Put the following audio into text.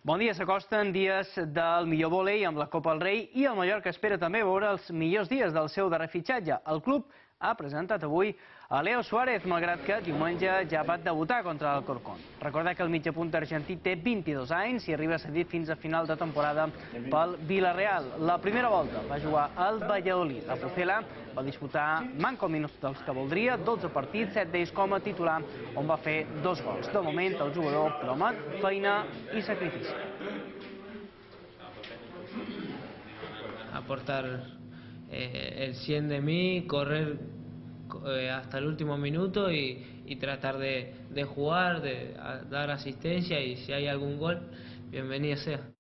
Bon dia, s'acosten dies del millor vòlei amb la Copa del Rei i el Mallorca espera també veure els millors dies del seu darrer fitxatge. El club ha presentat avui a Leo Suárez, malgrat que diumenge ja va debutar contra l'Alcorcón. Recordar que el mitjapunta argentí té 22 anys i arriba cedit fins a final de temporada pel Villarreal. La primera volta va jugar al Valladolid. La Pucela va disputar manco minuts dels que voldria, 12 partits, 7 d'ells com a titular, on va fer 2 gols. De moment, el jugador promet feina i sacrifici. Aportar el 100 de mí, correr hasta el último minuto y tratar de jugar, de dar asistencia, y si hay algún gol, bienvenido sea.